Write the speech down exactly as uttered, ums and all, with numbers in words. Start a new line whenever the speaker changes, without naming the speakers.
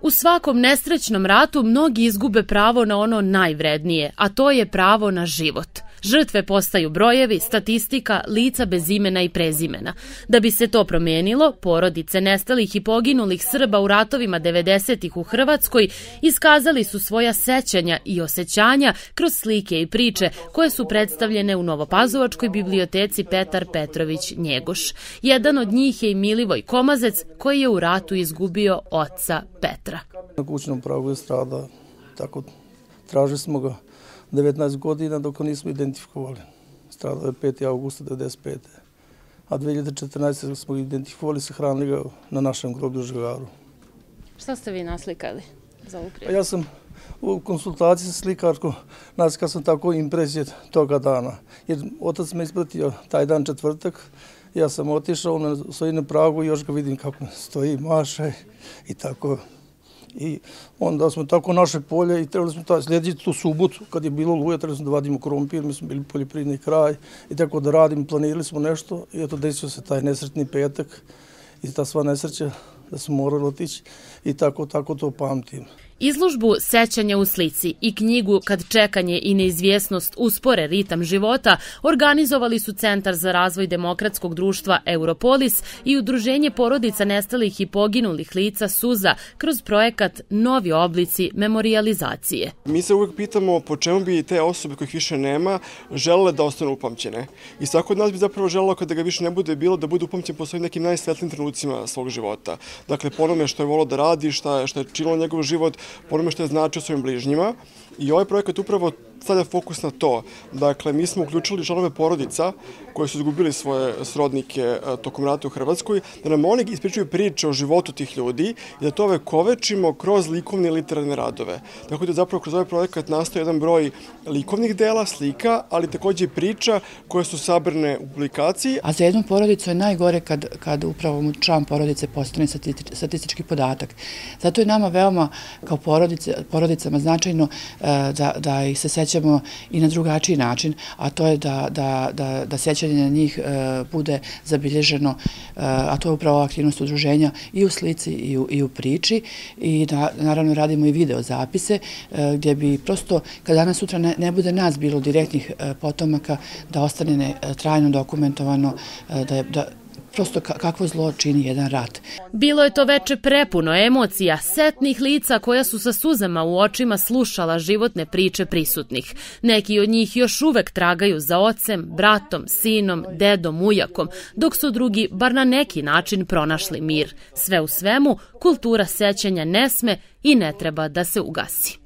U svakom nesrećnom ratu mnogi izgube pravo na ono najvrednije, a to je pravo na život. Žrtve postaju brojevi, statistika, lica bez imena i prezimena. Da bi se to promijenilo, porodice nestalih i poginulih Srba u ratovima devedesetih u Hrvatskoj iskazali su svoja sećanja i osjećanja kroz slike i priče koje su predstavljene u Novopazovačkoj biblioteci Petar Petrović Njegoš. Jedan od njih je i Milivoj Komazec koji je u ratu izgubio oca Petra.
Na kućnom pragu je stradao, tako tražili smo ga devetnaest godina dok ga nismo identifikovali. Stradao je petog avgusta devedeset pete. A dve hiljade četrnaeste. smo ga identifikovali, sahranili ga na našem groblju u Žagaru.
Šta ste vi naslikali za ovu prijedu?
Ja sam u konsultaciji sa slikarkom naslikao sam tako impresije toga dana. Jer otac me ispratio taj dan četvrtak. Ja sam otišao, on stoji na pragu i još ga vidim kako stoji, maše i tako. I onda smo tako naše polje i trebali smo sljedeći tu subotu, kad je bilo luja, trebali smo da vadimo krompir, mi smo bili poljoprivredni kraj i tako da radimo, planirali smo nešto i eto desio se taj nesretni petak i ta sva nesreća da smo morali otići i tako, tako to pamtim.
Izložbu Sećanja u slici i knjigu Kad čekanje i neizvjesnost uspore ritam života organizovali su Centar za razvoj demokratskog društva Europolis i Udruženje porodica nestalih i poginulih lica Suza kroz projekat Novi oblici memorijalizacije.
Mi se uvijek pitamo po čemu bi te osobe kojih više nema želele da ostanu upamćene. I svako od nas bi zapravo želelo kada ga više ne bude bilo da bude upamćen po svojim nekim najsvetlijim trenucima svog života. Dakle, po onome što je volio da radi, što je činilo njegov život, po onome što je značio svojim bližnjima. I ovaj projekat upravo stavlja fokus na to. Dakle, mi smo uključili članove porodica koji su izgubili svoje srodnike tokom rata u Hrvatskoj, da nam oni ispričaju priče o životu tih ljudi i da to ovekovečimo kroz likovne i literarne radove. Tako da zapravo kroz ovaj projekat nastoji jedan broj likovnih dela, slika, ali također i priča koje su sabrane u publikaciji.
A za jednu porodicu je najgore kad, kad upravo mu član porodice postane statistički podatak. Zato je nama veoma kao porodice, porodicama značajno da, da ih se sećamo i na drugačiji način, a to je da, da, da, da sećanje na njih e, bude zabilježeno, e, a to je upravo aktivnost udruženja i u slici i u, i u priči i da naravno radimo i video zapise e, gdje bi prosto kad danas sutra ne, ne bude nas bilo direktnih e, potomaka da ostane ne, trajno dokumentovano e, da je da prosto kakvo zlo čini jedan rat.
Bilo je to veče prepuno emocija, setnih lica koja su sa suzama u očima slušala životne priče prisutnih. Neki od njih još uvek tragaju za ocem, bratom, sinom, dedom, ujakom, dok su drugi bar na neki način pronašli mir. Sve u svemu, kultura sećanja ne sme i ne treba da se ugasi.